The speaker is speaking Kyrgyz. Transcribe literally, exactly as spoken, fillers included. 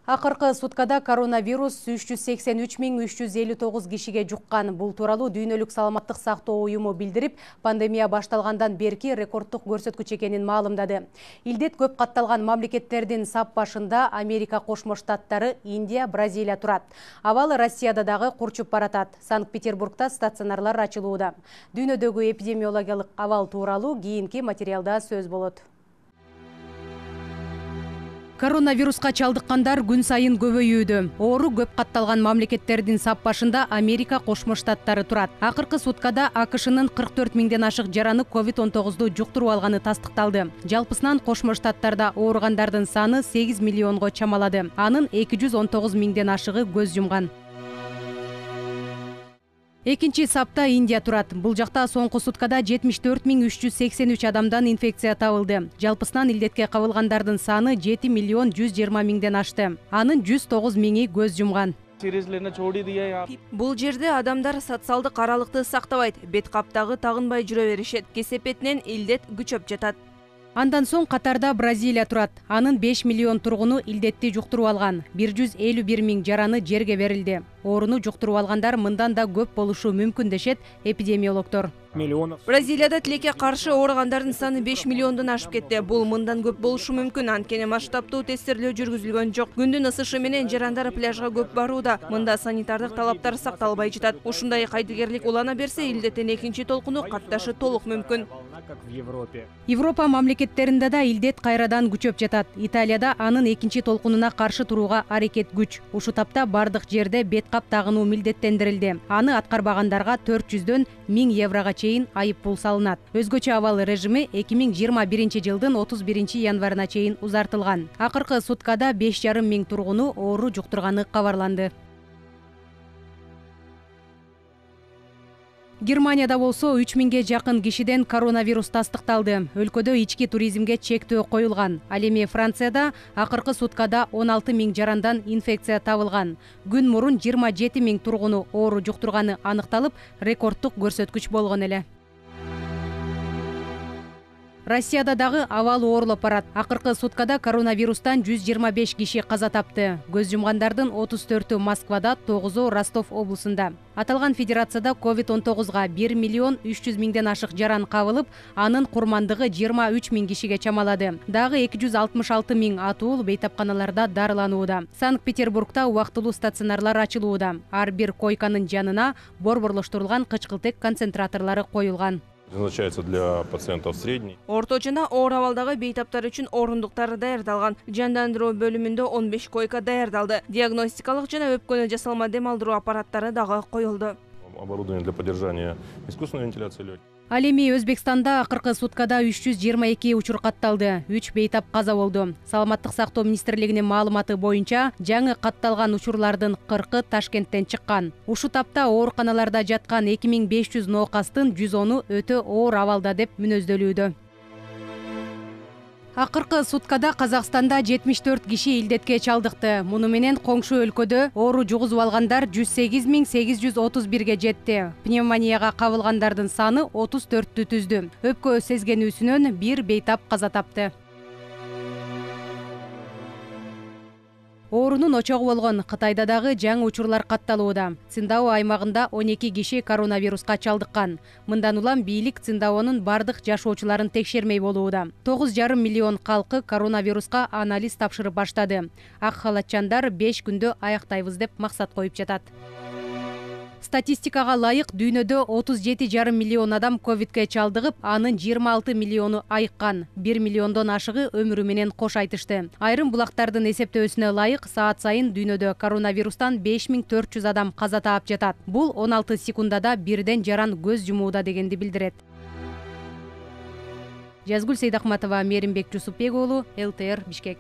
Акыркы суткада коронавирус үч жүз сексен үч миң үч жүз элүү тогуз кишиге жуккан. Бул тууралуу Дүйнөлүк саламаттык сактоо уюму билдирип, пандемия башталгандан берки рекордтук көрсөткүч экенин маалымдады. Илдет көп катталган мамлекеттердин сап башында Америка Кошмо Штаттары, Индия, Бразилия турат. Абал Россияда дагы курчуп баратат. Санкт-Петербургда стационарлар ачылууда. Дүйнөдөгү эпидемиологиялык абал тууралуу кийинки материалда сөз болот. Коронавируска чалдыккандар күн сайын көбөйүүдө. Оору көп катталган мамлекеттердин сап башында Америка Кошмо Штаттары турат. Акыркы суткада АКШнын кырк төрт миңден ашык жараны ковид он тогузду жуктуруп алганы тастыкталды. Жалпысынан Кошмо Штаттарда ооругандардын саны сегиз миллионго чамалады. Анын эки жүз он тогуз миңден ашыгы көз жумган. Экинчи сапта Индия турат. Бул жакта соңку суткада жетимиш төрт миң үч жүз сексен үч адамдан инфекция табылды. Жалпысынан илдетке кабылгандардын саны жети миллион жүз жыйырма миңден ашты. Анын жүз тогуз миңи көз жумган. Бул жерде адамдар социалдык аралыкты сактабайт, бет каптагы тагынбай жүрө беришет. Кесепетинен илдет күчөп жатат. Андан соң катарда Бразилия турат. Анын беш миллион тургуну илдетти жуктуруп алган. бир жүз элүү бир миң жараны жерге берилди. Ооруну жуктуруп алгандар мындан да көп болушу мүмкүн дешет эпидемиологдор. Бразилияда тилекке каршы ооругандардын саны беш миллиондон ашып кетти. Бул мындан көп болушу мүмкүн, анткени масштабтуу тестирлөө жүргүзүлгөн жок. Күндүн ысышы менен жарандар пляжга көп барууда. Мында санитардык талаптар сакталбай жатат. Ушундай кайдыгерлик улана берсе, илдеттин экинчи толкуну катташы толук мүмкүн. Европа мамлекеттеринде да илдет кайрадан күчөп жатат. Италияда анын экинчи толкунуна каршы турууга аракет күч. Ушу тапта бардык жерде бет кап тагынуу милдеттендирилди. Аны аткарбагандарга төрт жүздөн миң еврого чейин айып пул салынат. Өзгөчө абал режими эки миң жыйырма биринчи жылдын отуз биринчи январына чейин узартылган. Акыркы суткада беш жарым миң тургуну оору жуктурганы кабарланды. Германияда болсо үч миңге жакын кишиден коронавирус тастыкталды. Өлкөдө ички туризмге чектөө коюлган. Ал эми Францияда акыркы суткада он алты миң жарандан инфекция табылган. Күн мурун жыйырма жети миң тургуну оору жуктурганы аныкталып, рекордтук көрсөткүч болгон эле. Россияда дагы абал оорлоп барат. Акыркы суткада коронавирустан жүз жыйырма беш киши каза тапты. Көз жумгандардын отуз төртү Москвада, тогузу Ростов облусунда. Аталган федерацияда ковид он тогузга бир миллион үч жүз миңден ашык жаран кабылып, анын курмандыгы жыйырма үч миң кишиге чамалады. Дагы эки жүз алтымыш алты миң атуул бейтапканаларда дарыланууда. Санкт-Петербургда убактылуу стационарлар ачылууда. Ар бир койканын жанына борборлоштурулган кычкылтек концентраторлору коюлган. Назначается для пациентов средний. Орто жана оор абалдагы бейтаптар үчүн орундуктар даярдалган. Жандандыруу бөлүмүндө он беш койка даярдалды. Диагностикалык жана өпкөнү жасалма дем алдыруу аппараттары дагы коюлду. Оборудование для поддержания искусственной вентиляции легких. Ал эми Өзбекстанда акыркы суткада үч жүз жыйырма эки учур катталды. үч бейтап каза болду. Саламаттык сактоо министрлигинин маалыматы боюнча, жаңы катталган учурлардын кыркы Ташкенттен чыккан. Ушу тапта ооруканаларда жаткан эки миң беш жүз ноокастын жүз оны өтө оор абалда деп мүнөздөлүүдө. Акыркы суткада Казакстанда жетимиш төрт киши илдетке чалдыкты. Муну менен коңшу өлкөдө оору жугузуп алгандар жүз сегиз миң сегиз жүз отуз бирге жетти. Пневмонияга кабылгандардын саны отуз төрттү түздү. Өпкө сезгенүүсүнөн бир бейтап каза тапты. Оорунун очогу болгон Кытайда дагы жаңы учурлар катталууда. Циндао аймагында он эки киши коронавируска чалдыккан. Мындан улам бийлик Циндаонун бардык жашоочуларын текшермей болууда. тогуз жарым миллион калкы коронавируска анализ тапшырып баштады. Ак халатчандар беш күндө аяктайбыз деп максат коюп жатат. Статистикага ылайык дүйнөдө отуз жети жарым миллион адам ковидке чалдыгып, анын жыйырма алты миллиону айыккан. бир миллиондон ашыгы өмүрү менен кош айтышты. Айрым булактардын эсептөөсүнө ылайык саат сайын дүйнөдө коронавирустан беш миң төрт жүз адам каза таап жатат. Бул он алты секундада бирден жаран көз жумууда дегенди билдирет. Жазгүл Сейдахматова, Меримбек Жусупбек уулу, эл тэ эр Бишкек.